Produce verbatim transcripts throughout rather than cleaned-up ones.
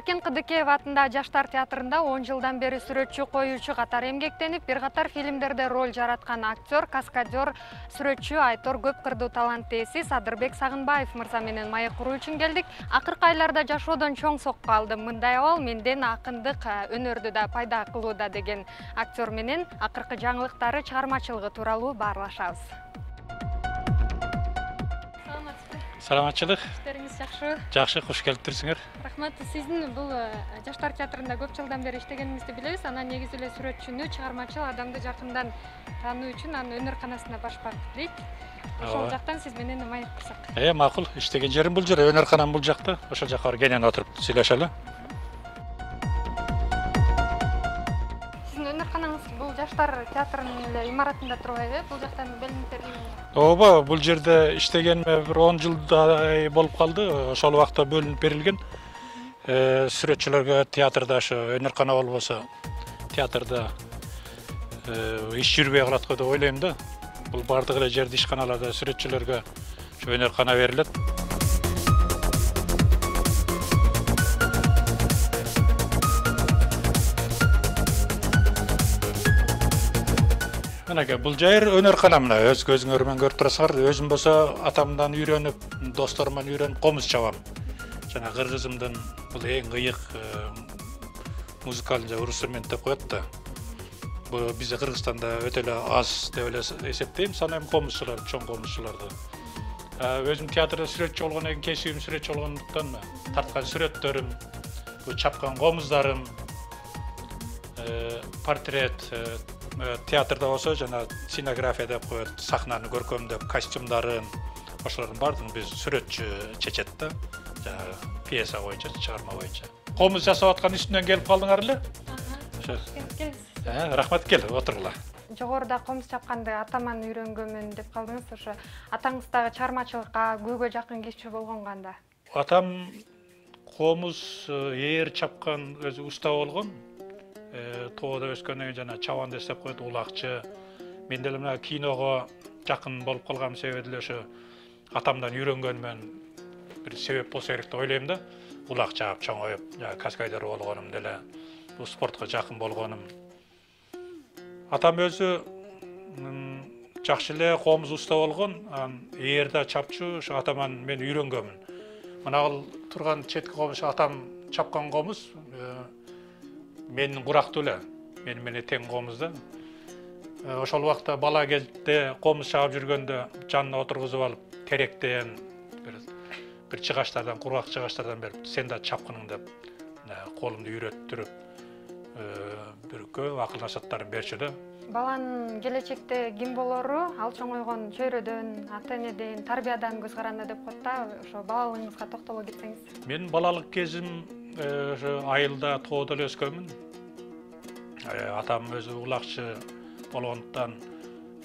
Эркен Кыдыкеев атындагы Жаштар театрында он жылдан бери сүрөтчү, коюучу катары эмгектенип, бир катар фильмдерде роль жараткан актер, каскадер, сүрөтчү Айтор көп кырдуу талант ээси Садырбек Сагынбаев мырза менен маек куруу үчүн келдик. Акыркы айларда жашоодон чоң сокку алдым. Мындай абал менден акындык өнөрдү да пайда кылууда деген актер менен акыркы жаңылыктары, чыгармачылыгы тууралуу баарлашабыз. Саламатчылык. Иштериңиз жакшы? Жакшы, кош келиптирсиңер. Рахмат. Сиздин бул Жаштар театрында көп жылдан бери иштегениңизди билебиз. Анан негизи эле сүрөтчүнү, чыгармачыл адамды жакындан таануу үчүн анын өнөрканасына башпак дейт. Ошол жактан сиз менен маек курсак. Э, макул. Иштеген жерим бул жер, өнөрканам бул жакта. Ошол жака барып кенен отуруп сүйлөшөлү. Сиздин өнөрканаңыз бул Жаштар театрынын эле имаратында турбайбы? Бул жактан белгилер. Ооба, бул жерде иштегениме бир он жылдай болуп калды. Ошол убакта бөлүнүп берилген. Э, сүрөтчүлөргө театрда ошо өнөркана болбосо, театрда иш жүрбөй калат го деп ойлойм да. Бул бардык эле жерде ишканаларда сүрөтчүлөргө ошо өнөркана берилет. Мынакей бул жер өнөркана, мына өз көзүңөр менен көрүп турасыңар. Өзүм болсо атамдан үйрөнүп, досторумдан үйрөнүп комуз чабам. Жана кыргызымдын бул эң кыйык музыкалдык инструмент деп коет да. Бул бизде Кыргызстанда өтө эле аз деп эле эсептейм, санайм комузчулар, чоң комузчуларды. Өзүм театрда сүрөтчү болгондон кийин, кесибим сүрөтчү болгондуктан тарткан сүрөттөрүм, бул чапкан комуздарым, портрет, театрда болсо жана сценография деп коет, сахнаны көркөмдөп, костюмдарын, ошолордун баардыгын биз сүрөтчү чечет да. Жана пьеса боюнча, чыгарма боюнча. Комуз жасап аткан үстүнөн келип калдыңар эле? Ага. Рахмат, кел, отургула. Жогоруда комуз чапканды атаман үйрөнгөнмүн деп калдыңыз. Ошо атаңыз дагы чыгармачылыкка көйгөй жакын киши болгон кандай? Атам комуз ээр чапкан өзү уста болгон. Тоодо өскөндөн кийин жана чабанды деп коет, улакчы. Мен деле мына киного жакын болуп калган себеби деле ошо атамдан үйрөнгөнмөн бир себеп болсо керек деп ойлойм да. Улак чаап, чоңоюп, каскадер болгонум деле, бул спортко жакын болгонум. Атам өзү жакшы эле комуз уста болгон, ээр да чапчу, ошо атаман мен үйрөнгөнмүн. Мына ал турган четки комуз атам чапкан комуз менин курактуу эле, мени менен тең комуз да. Ошол убакта бала кезде комуз чаап жүргөндө жанына отургузуп алып, теректен бир чыгаштардан, кургак чыгаштардан берип, сен да чапкының деп колумду үйрөттүрүп, бир көп акыл насааттарын берчү да. Баланын келечекте ким болору ал чоңойгон чөйрөдөн, ата энеден, тарбиядан көз каранды деп коет да. Ошо балалыгыңызга токтоло кетсеңиз. Мен балалык кезим ошо айылда, тоодо эле өскөнмүн. Атам өзү улакчы болгондуктан,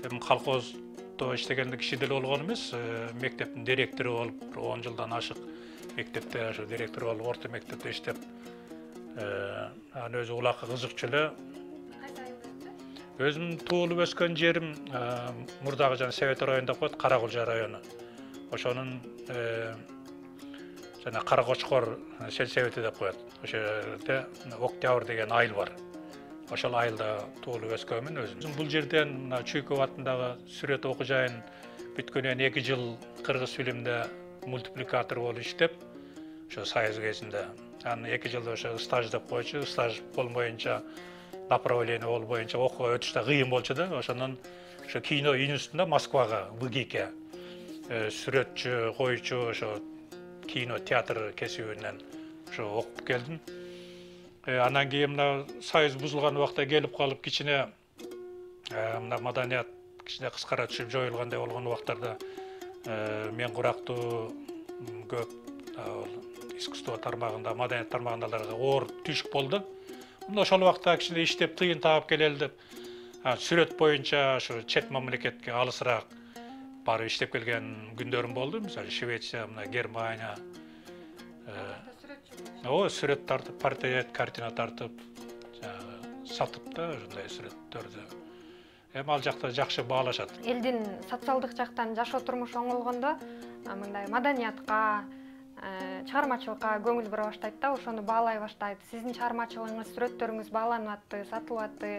эми колхоздо иштегенде киши деле болгон эмес, мектептин директору болуп, он жылдан ашык мектепте ошо директор болуп, орто мектепте иштеп, анан өзү улакка кызыкчу эле. Өзүм туулуп өскөн жерим мурдагы жана Совет району деп коет, Каракулжа району. Ошонун жана Каракочкор сельсовети деп коет. Ошо жерде Октябрь деген айыл бар. Ошол айылда туулуп өскөнмүн өзүм. Бул жерден мына Чуйков атындагы сүрөт окуу жайын бүткөндөн эки жыл кыргыз фильмде мультипликатор болуп иштеп, ошо Союз кезинде. Анан эки жыл ошо стаж деп койчу, стаж болбоюнча, направление болбоюнча окууга өтүш да кыйын болчу да. Ошондон ошо кино институтунда Москвага, ВГИКке сүрөтчү, коюучу, ошо кино, театр кесибинен ошо окуп келдим. Андан кийин мына Союз бузулган убакта келип калып, кичине мына маданият кичине кыскара түшүп жоюлгандай болгон убактарда мен курактуу көп искусство тармагында, маданият тармагындагыларга оор түшүк болду. Ошол убакта кичине иштеп тыйын таап келели деп, сүрөт боюнча ошо чет мамлекетке алысыраак барып иштеп келген күндөрүм болду. Мисалы Швеция, мына Германия. О, сүрөт тартып, портрет, картина тартып, сатып да ушундай сүрөттөрдү. Эми ал жакта жакшы баалашат. Элдин социалдык жактан жашоо турмушу оңолгондо, мындай маданиятка, чыгармачылыкка көңүл бура баштайт да, ошону баалай баштайт. Сиздин чыгармачылыгыңыз, сүрөттөрүңүз бааланып атты, сатылып атты.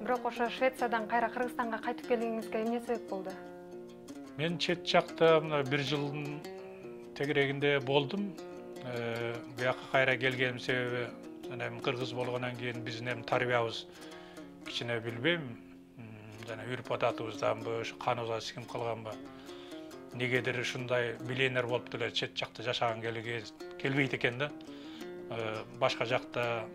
Бирок ошо Швециядан кайра Кыргызстанга кайтып келгениңизге эмне себеп болду? Мен чет жакта мына бир жылдын тегерегинде болдум. Буяка кайра келгеним себеби жана эми кыргыз болгондон кийин биздин эми тарбиябыз кичине билбейм, жана үрп адатыбызданбы, ушу каныбызга сиңип калганбы. Негедир ушундай миллионер болуп деле чет жакта жашаган келбейт экен да. Башка жакта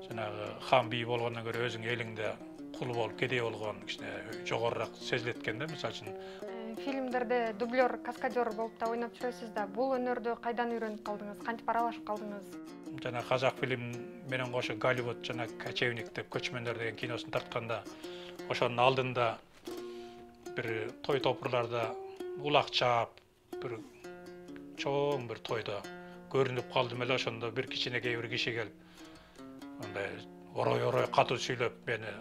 жанагы хан бий болгондон көрө өзүң элиңде кул болуп, кедей болгон кичине жогорураак сезилет экен да, мисалы үчүн. Фильмдерде дублер, каскадер болуп да ойноп жүрөсүз да. Бул өнөрдү кайдан үйрөнүп калдыңыз? Кантип аралашып калдыңыз? Жана казак фильм менен кошо Голливуд жана Кочевник деп көчмөндөр деген киносун тартканда, ошонун алдында бир той топурларда улак чаап, бир чоң бир тойдо көрүнүп калдым эле. Ошондо бир кичинекей бир киши келип, мындай орой-орой катуу сүйлөп, мени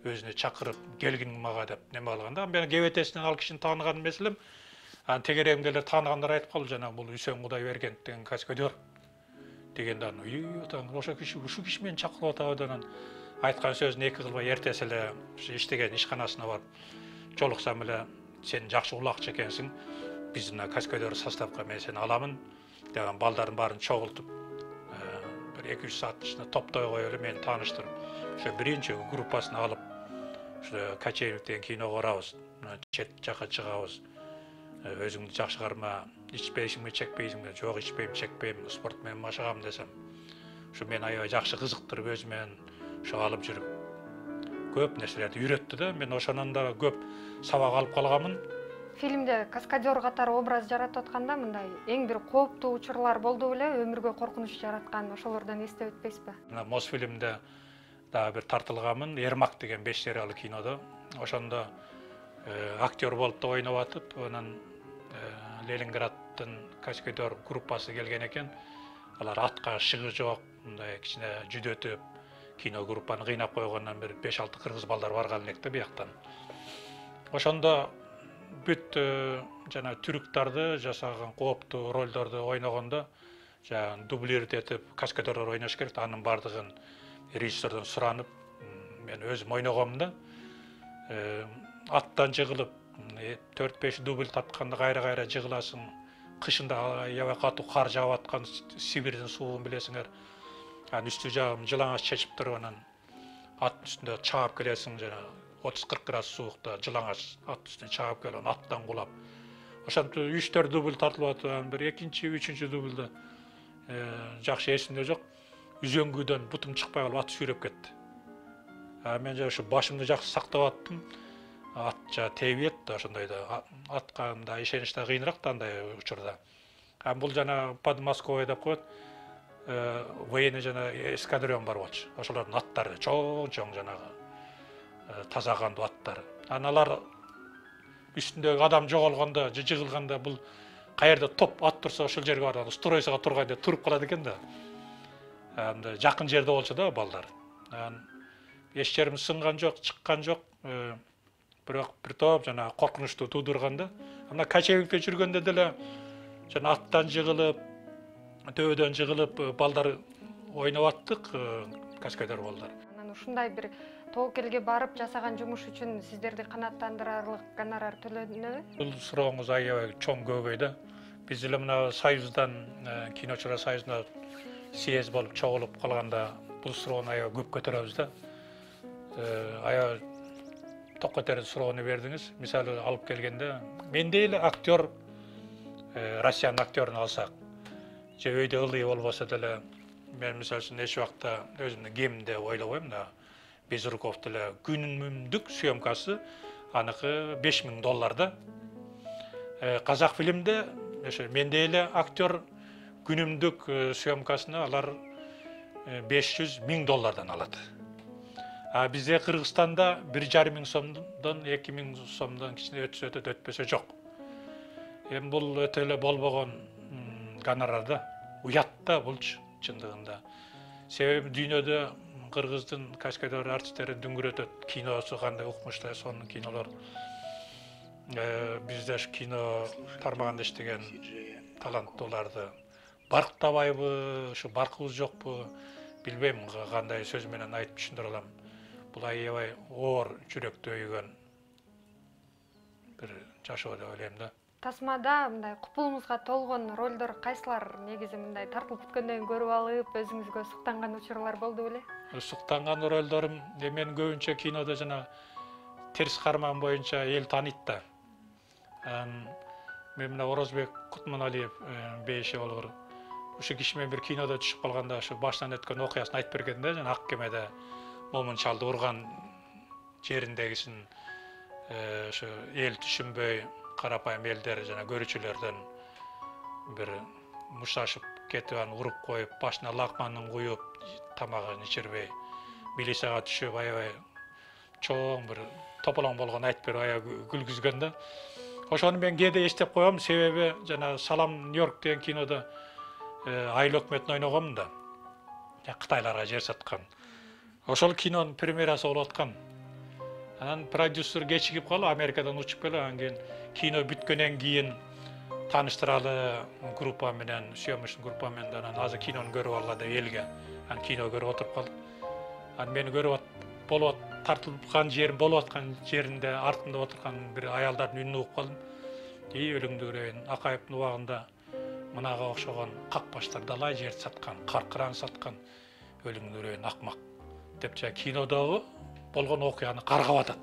өзүнө чакырып, келгиң мага деп неме кылганда, мен кебетесинен ал кишини тааныган эмес элем. Анан тегерегимде эле тааныгандар айтып калды, жана бул Үсен Кудайбергенов деген каскадер дегенде, үй атаң, ошо киши, ушу киши мени чакырып атабы деп, анан айткан сөзүн эки кылбай эртеси эле иштеген ишканасына барып жолуксам эле, сен жакшы улакчы экенсиң, биздин каскадер составка мен сени аламын деген балдардын баарын чогултуп, бир эки үч сааттын ичинде топтой коюп эле мени тааныштырып, ошо биринчи группасын алып, ошо Кочевник деген киного барабыз, чет жака чыгабыз. Өзүңдү жакшы карма, ичпейсиңби, чекпейсиңби? Жок, ичпейм, чекпейм, спорт менен машыгам десем, ошо мени аябай жакшы кызыктырып өзү менен ошо алып жүрүп, көп нерселерди үйрөттү да. Мен ошонун да көп сабак алып калганмын. Фильмде каскадер катары образ жаратып атканда мындай эң бир кооптуу учурлар болду беле, өмүргө коркунуч жараткан, ошолордон эстеп өтпөйсүзбү? Мына Мосфильмде дагы бир тартылганмын, Ермак деген беш сериялы кинодо. Ошондо актер болуп да ойноп атып, анан Ленинградтын каскадер группасы келген экен. Алар атка шыгы жок, мындай кичине жүдөтүп, кино группаны кыйнап койгондон бир беш алты кыргыз балдар барган элек да бияктан. Ошондо бүт жана түрктарды жасаган кооптуу ролдорду ойногондо, жана дублировать этип каскадерлер ойнош керек. Анын бардыгын режиссердон суранып, мен өзүм ойногом да. Аттан жыгылып, төрт беш дубль тапканда кайра-кайра жыгыласың. Кышында аябай катуу кар жаап аткан Сибирдин суугун билесиңер. Анан үстү жагым жылаңач чечип туруп, анан аттын үстүндө чаап келесиң, жана отуз кырк градус суукта жылаңач ат үстүнө чаап келип, анан аттан кулап. Ошентип үч төрт дубль тартылып атып, анан бир экинчи, үчүнчү дубльда жакшы эсимде жок. Үзөңгүдөн бутум чыкпай калып ат сүйрөп кетти. Мен жа ушу башымды жакшы сактап аттым. Ат жа тебет да, ошондой да, атка мындай ишенич да кыйыныраак да андай учурда. Анан бул жана подмосковье деп коет, военный жана эскадрон бар болчу. Ошолордун аттары чоң-чоң жанагы таза кандуу аттар. Анан алар үстүндөгү адам жоголгондо, жыгылганда бул каерде топ ат турса ошол жерге барып стройсага турганда туруп калат экен да. Анда жакын жерде болчу да балдар. Анан эч жерим сынган жок, чыккан жок. Бирок бир топ жана коркунучту туудурганда, анда Кочевникте жүргөндө деле жана аттан жыгылып, төбөдөн жыгылып балдар ойноп аттык, каскадер балдар. Анан ушундай бир тобокелге барып жасаган жумуш үчүн сиздерди канааттандырарлык гонорар төлөнөбү? Бул сурооңуз аябай чоң көйгөй да. Биз эле мына Союздан, киночулар союзуна съезд болуп чогулуп калганда бул суроону аябай көп көтөрөбүз да. Аябай ток көтөрүп суроону бердиңиз. Мисалы алып келгенде, мендей эле актер, Россиянын актерин алсак, же өйдө ылдый болбосо деле, мен мисалы үчүн эч убакта өзүмдүн кемимде ойлобойм да. Безруков деле күнүмдүк съемкасы аныкы беш миң доллар да. Казак фильмде ошо мендей эле актер күнүмдүк съемкасына алар беш жүз миң доллардан алат. А бизде Кыргызстанда бир жарым миң сомдон эки миң сомдон кичине өтсө өтөт, өтпөсө жок. Эми бул өтө эле болбогон гонорар да. Уят да булчу чындыгында. Себеби дүйнөдө кыргыздын каскадер артисттери дүңгүрөтөт. Киносу кандай укмуштуу, сонун кинолор. Бизде кино тармагында иштеген таланттууларды барктабайбы, ушу баркыбыз жокпу билбейм кандай сөз менен айтып түшүндүрө алам. Бул аябай оор жүрөктү өйгөн бир жашоо деп ойлойм да. Тасмада мындай купулуңузга толгон ролдор кайсылар негизи мындай тартылып бүткөндөн кийин көрүп алып, өзүңүзгө суктанган учурлар болду беле? Суктанган ролдорум мен көбүнчө кинодо жана терс карман боюнча эл тааныйт да. Мен мына Орозбек Кутманалиев бейиши болор. Ушу киши менен бир кинодо түшүп калганда ушу башынан өткөн окуясын айтып берген да, жана ак кемеде момун чалды урган жериндегисин ушу эл түшүнбөй, карапайым элдер жана көрүүчүлөрдөн бир мушташып кетип анан уруп коюп, башына лакманын куюп, тамагын ичирбей, милицияга түшүп аябай чоң бир тополоң болгон айтып берип аябай күлгүзгөн да. Ошону мен кээде эстеп коем, себеби жана Салам Нью-Йорк деген кинодо айыл өкмөтүн ойногом да. Кытайларга жер саткан. Ошол кинонун премьерасы болуп аткан. Анан продюсер кечигип калып, Америкадан учуп келип, анан кийин кино бүткөндөн кийин тааныштыралы группа менен, съемочный группа менен, анан азыр кинону көрүп алгыла деп элге. Анан кино көрүп отуруп калдык. Анан мени көрүп болуп тартылган жерим болуп аткан жеринде артымда отурган бир аялдардын үнүн угуп калдым. И өлүңдүрөйүн, Акаевдин убагында мынага окшогон какпаштар далай жерди саткан, каркыран саткан, өлүңдүрөйүн акмак деп жа кинодогу болгон окуяны каргап атат.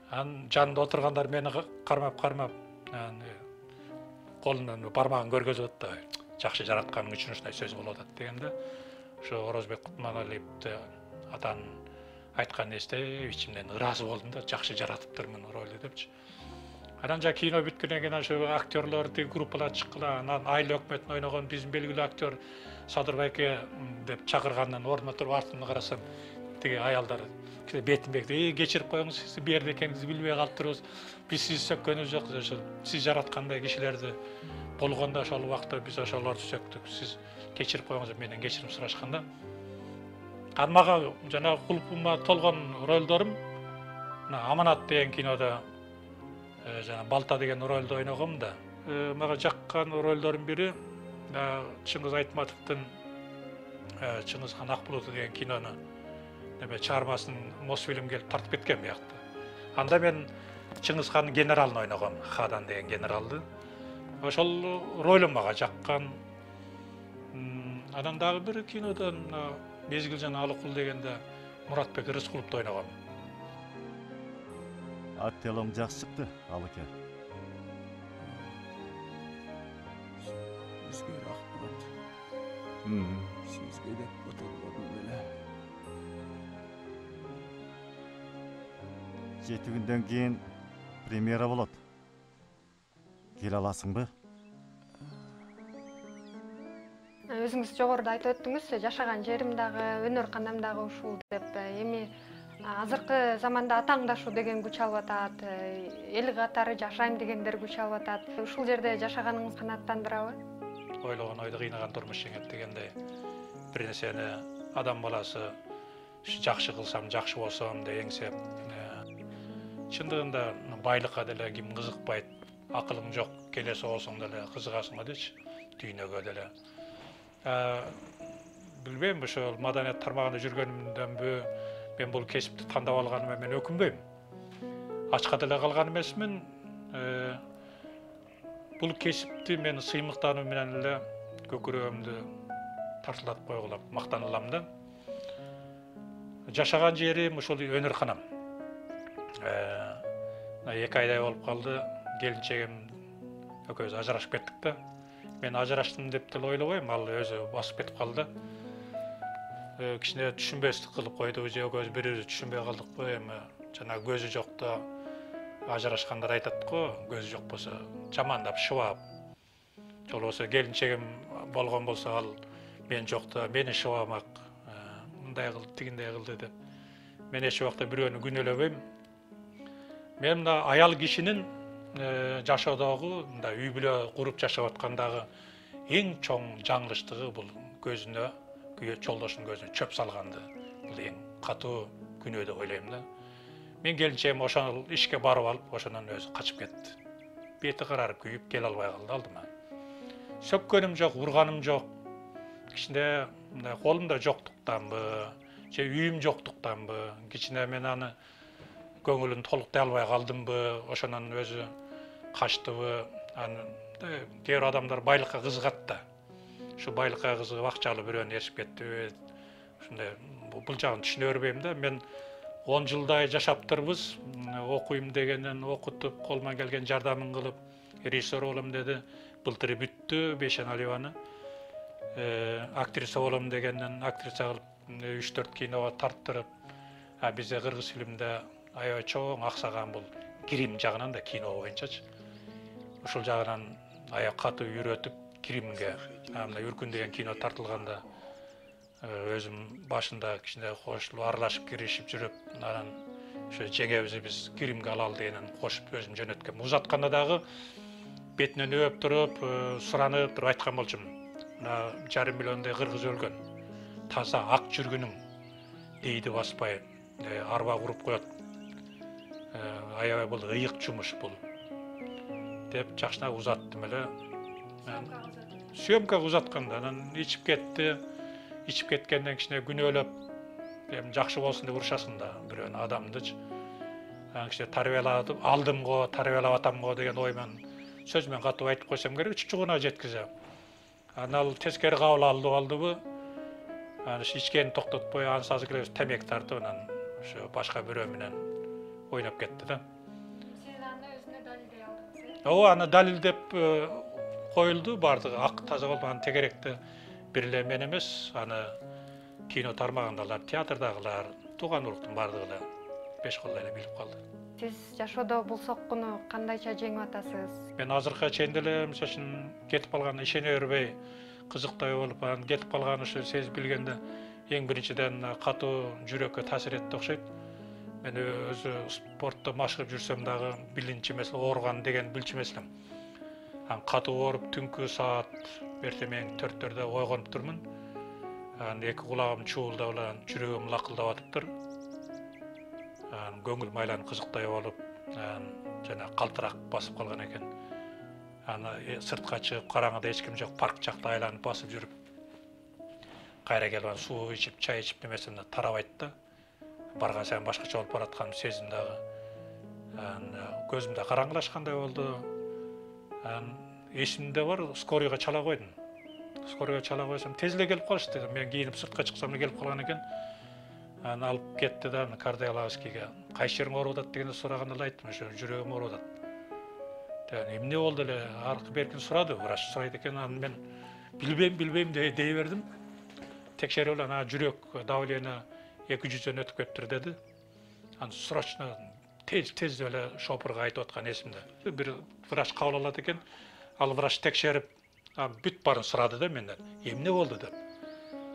Анан жанында отургандар мени кармап-кармап, колунан бармагын көргөзүп атты. Жакшы жаратканың үчүн ушундай сөз болуп атат дегенде, ошо Орозбек Кутманалиевди атанын айтканын эстеп, ичимден ыраазы болдум да, жакшы жаратыптырмын ролду депчи. Анан жа кино бүткөндөн кийин ошо актерлор тиги группалар чыккыла, анан айыл өкмөтүн ойногон биздин белгилүү актер Садыр байке деп чакыргандан ордуна туруп артымда карасам, тиги аялдар бетимбек "Эй, кечирип коюңуз, сиз бу жерде экениңизди билбей калыптырбыз. Биз сизди сөккөнүбүз жок. Ошо сиз жараткандай кишилерди болгондо ошол убакта биз ошолорду сөктүк. Сиз кечирип коюңуз" деп менден кечирим сурашканда. Анан мага жана кулпума толгон ролдорум мына Аманат деген кинодо жана Балта деген ролду ойногом да. Мага жаккан ролдордун бири Чыңгыз Айтматовдун Чыңгызхан Акбулуту деген кинону неме чыгармасын Мосфильм келип тартып кеткен биякта. Анда мен Чыңгызхандын генералын ойногом, Хадан деген генералды. Ошол ролум мага жаккан. Анан дагы бир кинодон Мезгил жана Алыкул дегенде Муратбек Рыскуловду ойногом. Актерлерим жакшы чыкты, Алыке. Сизге рахмат. Сизге деп отурбадым беле. Жети күндөн кийин премьера болот. Келе аласыңбы? Өзүңүз жогоруда айтып өттүңүз, жашаган жерим дагы, өнөр канам дагы ушул деп. Эми азыркы заманда атаңдашуу деген күч алып атат, эл катары жашайм дегендер күч алып атат. Ушул жерде жашаганыңыз канааттандырабы? Ойлогон ойду кыйнаган турмуш жеңет дегендей бир нерсени адам баласы жакшы кылсам, жакшы болсом деп эңсеп, чындыгында байлыкка деле ким кызыкпайт, акылың жок, келе соосуң деле кызыгасың дечи, дүйнөгө деле. Билбейм, ошол маданият тармагында жүргөнүмдөнбү, мен бул кесипти тандап алганыма мен өкүнбөйм. Ачка деле калган эмесмин. Бул кесипти мен сыймыктануу менен эле көкүрөгүмдү тартылатып койгула мактанылам да. Жашаган жерим ушул өнөр-канам. эки айдай болуп калды, келинчегим экөөбүз ажырашып кеттик да. Мен ажыраштым деп деле ойлобойм, ал өзү басып кетип калды. Кичине түшүнбөстүк кылып койду, же экөөбүз бири-бирибизди түшүнбөй калдыкпы, эми жана көзү жокто ажырашкандар айтат го, көзү жок болсо жамандап шыбап. Жол болсо келинчегим болгон болсо ал мен жокто мени шыбамак, мындай кыл, тигиндей кылды деп. Мен эч убакта бирөөнү күнөөлөбөйм. Мен мына аял кишинин жашоодогу, мындай үй бүлө куруп жашап аткандагы эң чоң жаңылыштыгы бул көзүнө, жолдошунун көзүнө чөп салганды. Бул эң катуу күнөө деп ойлойм да. Мен келинчегим ошол ишке барып алып, ошондон өзү качып кетти. Бети карарып күйүп келе албай калды алдыма. сөккөнүм жок, урганым жок. Кичине колумда жоктуктанбы, же үйүм жоктуктанбы, кичине мен аны көңүлүн толуктай албай калдымбы, ошонун өзү качтыбы. Аны кээ бир адамдар байлыкка кызыгат да. Ушу байлыкка кызыгып акчалуу бирөөнү ээрчип кетти. Ушундай бул жагын түшүнө бербейм да. Мен он жылдай жашаптырбыз. Окуйм дегенен окутуп, колуман келген жардамын кылып, режиссер болом деди. Былтыр бүттү Бейшен Алиеваны. Актриса болом дегенден актриса кылып үч төрт киного тарттырып, а бизде кыргыз фильминде аябай чоң аксаган бул кирим жагынан да кино боюнчачы. Ушул жагынан аябай катуу үйрөтүп, киримге, мына Үркүн деген кино тартылганда өзүм башында кичине кошулуп, аралашып киришип жүрүп, анан ошо жеңебизди биз киримге алалы дегенен кошуп өзүм жөнөткөм. Узатканда дагы бетинен өп туруп, суранып туруп айткан болчумун. Мына жарым миллиондой кыргыз өлгөн. Таза ак жүргүнүң дейди баспай, арба куруп коет. Аябай бул ыйык жумуш бул. Деп жакшына узаттым эле. Съемкага узатканда анан ичип кетти. Ичип кеткенден кичине күнөөлөп, эми жакшы болсун деп урушасың да бирөөнү адамдычы. Анан кичине тарбиялатып, алдым го, тарбиялап атам го деген оймен сөз менен катып айтып койсом керек, чучугуна жеткизем. Анан ал тескери кабыл алды алдыбы? Анан ичкени токтотпой, ансазы келе темеки тартып, анан ошо башка бирөө менен ойноп кетти да. Сиз аны өзүнө далилдей алдыңыз, э? Ооба, аны далилдеп коюлду, бардыгы ак таза болуп, анан тегеректи бир эле мен эмес, аны кино тармагындагылар, театрдагылар, тууган уруктун бардыгы эле беш колдой эле билип калды. Сиз жашоодо бул соккуну кандайча жеңип атасыз? Мен азыркыга чейин деле мисалы үчүн кетип калган ишене бербей, кызыктай болуп, анан кетип калган ушу сезип билгенде эң биринчиден катуу жүрөккө таасир этти окшойт. Мен өзү спортто машыгып жүрсөм дагы билинчи эмес, ооруган деген билчү эмес элем. Анан катуу ооруп түнкү саат эртең төрттөрдө ойгонуп турмун. Анан эки кулагым чуулдап эле, жүрөгүм лакылдап атыптыр. Анан көңүл майланып кызыктай болуп, анан жана калтырак басып калган экен. Анан сыртка чыгып караңгыда эч ким жок, парк жакта айланып басып жүрүп, кайра келип суу ичип, чай ичип немесем да тарабайт да. Барган сайын башкача болуп баратканын сездим дагы. Анан көзүмдө караңгылашкандай болду. Анан эсимде бар, скорыйга чала койдум. Скорыйга чала койсом, тез эле келип калышты. Мен кийинип сыртка чыксам эле келип калган экен. Анан алып кетти да, кардиологическийге. Кайсы жериң ооруп атат дегенде сураганда эле айттым, ошо жүрөгүм ооруп атат. Деген эмне болду эле, аркы беркин сурады, врач сурайт экен. Анан мен билбейм, билбейм дей бердим. Текшерип эле анан жүрөк давление эки жүздөн өтүп кетиптир деди. Анан срочно тез-тез эле шопурга айтып аткан эсимде. Бир врач кабыл алат экен. Ал врач текшерип, бүт баарын сурады да менден. Эмне болду деп.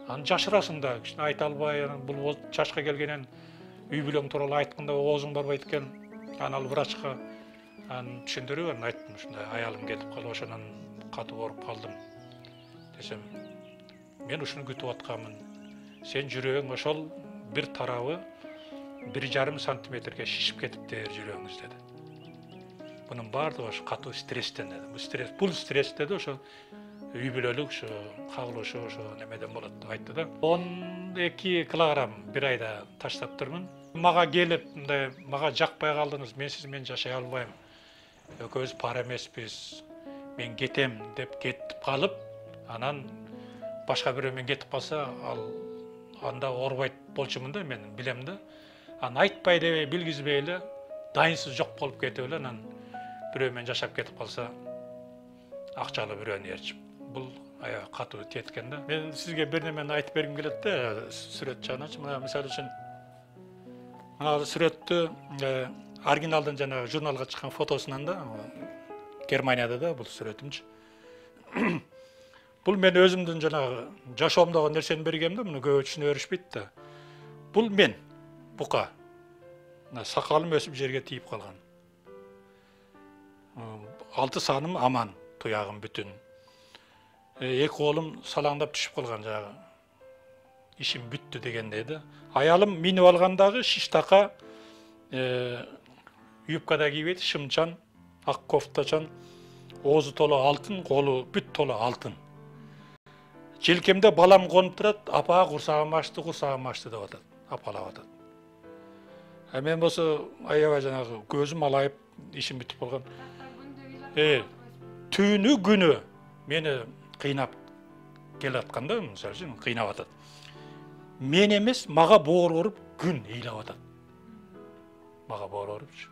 Анан жашырасың да, кичине айта албай, анан бул жашка келгенен үй бүлөң тууралуу айтканда оозуң барбайт экен. Анан ал врачка анан түшүндүрүп анан айттым, ушундай аялым кетип калып, ошонун катуу ооруп калдым десем, мен ушуну күтүп атканмын. Сен жүрөгүң ошол бир тарабы бир жарым сантиметрге шишип кетипти жүрөгүңүз деди. Bunun баардыгы ошо катуу стресстен деди. Бул стресс, бул стресс деди, ошо үй бүлөлүк, ошо кагылышы, ошо немеден болот деп айтты да. он эки килограмм бир айда таштаптырмын. Мага келип, мындай, мага жакпай калдыңыз, мен сиз менен жашай албайм. Экөөбүз пара эмеспиз. Мен кетем деп кетип калып, анан башка бирөө менен кетип калса, ал анда оорубайт болчумун да, мен билем да. Анан айтпай дебей, билгизбей эле дайынсыз жок болуп кетип эле, анан бирөө менен жашап кетип калса, акчалуу бирөөнү ээрчип. Бул аябай катуу теткен да. Мен сизге бир немени айтып бергим келет да, сүрөт жагыначы. Мына мисалы үчүн мына сүрөттү оригиналдын жана журналга чыккан фотосунан да, Германияда да бул сүрөтүмчү. Бул мен өзүмдүн жанагы жашоомдогу нерсени бергем да, муну көбү түшүнө беришпейт да. Бул мен, бука. Сакалым өсүп жерге тийип калган. Алты сааным аман, туягым бүтүн. Эки колум салаңдап түшүп калган жагы. Ишим бүттү дегендей да. Аялым минип алгандагы шиштака юбкада кийбейт, шымчан, ак кофтачан, оозу толу алтын, колу бүт толу алтын. Желкемде балам конуп турат, апа курсагым ачты, курсагым ачты деп атат, апалап атат. А мен болсо аябай жанагы көзүм алайып, ишим бүтүп калган. Э, түнү күнү мени кыйнап келатканда, мисалы үчүн кыйнап атат. Мен эмес, мага боор оруп күн ыйлап атат. Мага боор орупчу.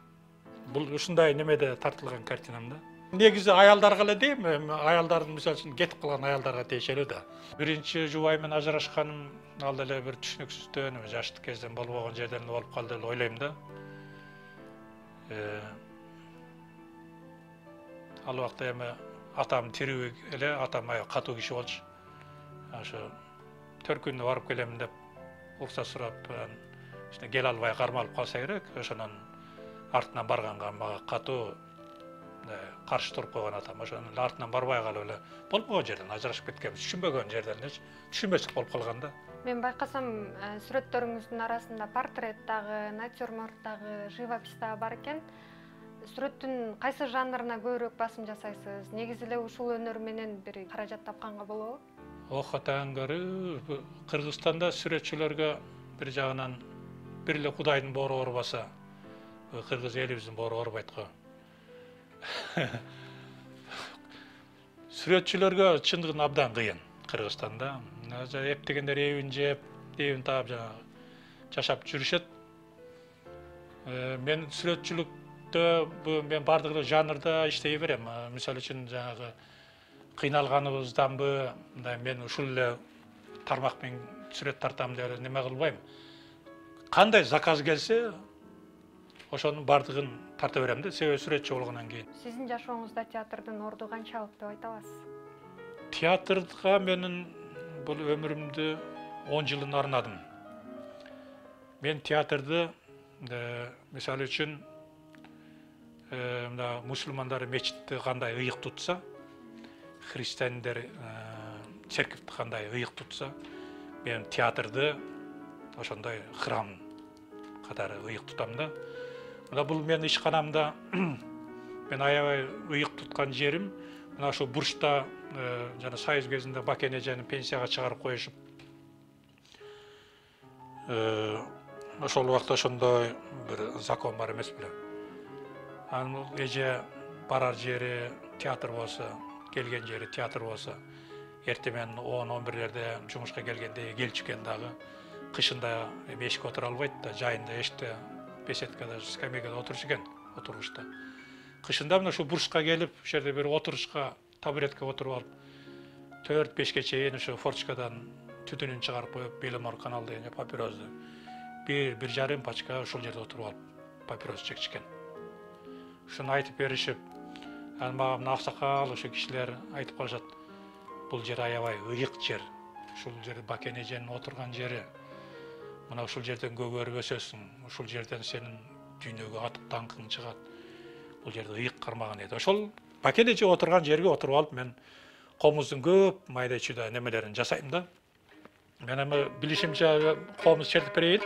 Бул ушундай немеде тартылган картинамда. Негизи аялдарга эле дейм, аялдардын мисалы үчүн кетип калган аялдарга тиешелүү да. Биринчи жубай менен ажырашканым ал деле бир түшүнүксүздөн, жаштык кезден болбогон жерден болуп калды деп ойлойм да. Ал убакта эми атам тирүү эле, атам аябай катуу киши болчу. Ошо төркүнүнө барып келем деп уруксат сурап, ишte кел албай кармалып калса керек, ошонун артынан барганга мага катуу каршы туруп койгон атам. Ошонун артынан барбай калып эле болбогон жерден ажырашып кеткенбиз, түшүнбөгөн жерден элечи, түшүнбөстүк болуп калган да. Мен байкасам, сүрөттөрүңүздүн арасында портрет дагы, натюрморт дагы, живопись дагы бар экен. Сүрөттүн кайсы жанрына көбүрөөк басым жасайсыз? Негизи эле ушул өнөр менен бир каражат тапканга болобу? Ох, атаңгары, Кыргызстанда сүрөтчүлөргө бир жагынан бир эле Кудайдын боору орбаса, кыргыз элибиздин боору орбойт го. Сүрөтчүлөргө чындыгын абдан кыйын Кыргызстанда. Эптегендер эбин жеп, эбин таап жанагы жашап жүрүшөт. Мен сүрөтчүлүктө мен бардык эле жанрда иштей берем. Мисалы үчүн жанагы кыйналганыбызданбы, мен ушул эле тармак менен сүрөт тартам деп эле неме кылбайм. Кандай заказ келсе, ошонун бардыгын тарта берем да, себеби сүрөтчү болгондон кийин. Сиздин жашооңузда театрдын орду канчалык деп айта аласыз? Театрга менин бул өмүрүмдү он жылын арнадым. Мен театрды, мисалы үчүн, мына мусулмандар мечитти кандай ыйык тутса, христиандер церковти кандай ыйык тутса, мен театрды ошондой храм катары ыйык тутам да. Мына бул менин ишканамда мен аябай ыйык туткан жерим, мына ошо бурчта жана Союз кезинде Бакен эжени пенсияга чыгарып коюшуп, ошол убакта ошондой бир закон бар эмес беле. Анын эже барар жери театр болсо, келген жери театр болсо, эртең менен он он бирлерде жумушка келгенде келчү экен дагы, кышында эшикке отура албайт да, жайында эшикте беседкада, скамейкада отурчу экен, отургучта. Кышында мына ушу бурчка келип, ошол жерде бир отурушка, табуретке отуруп алып, төрт бешке чейин ушу форточкадан түтүнүн чыгарып коюп, Беломор канал деген папирозду бир бир жарым пачка ушул жерде отуруп алып, папирос чекчү экен. Ушуну айтып беришип, анан мага мына аксакал ошо кишилер айтып калышат, бул жер аябай ыйык жер. Ушул жер Бакен эженин отурган жери. Мына ушул жерден көгөрүп өсөсүң, ушул жерден сенин дүйнөгө атып даңкың чыгат. Бул жерде ыйык кармаган эди. Ошол Бакен эже отурган жерге отуруп алып, мен комуздун көп майда чүйдө немелерин жасайм да. Мен эми билишимче комуз чертип берейин.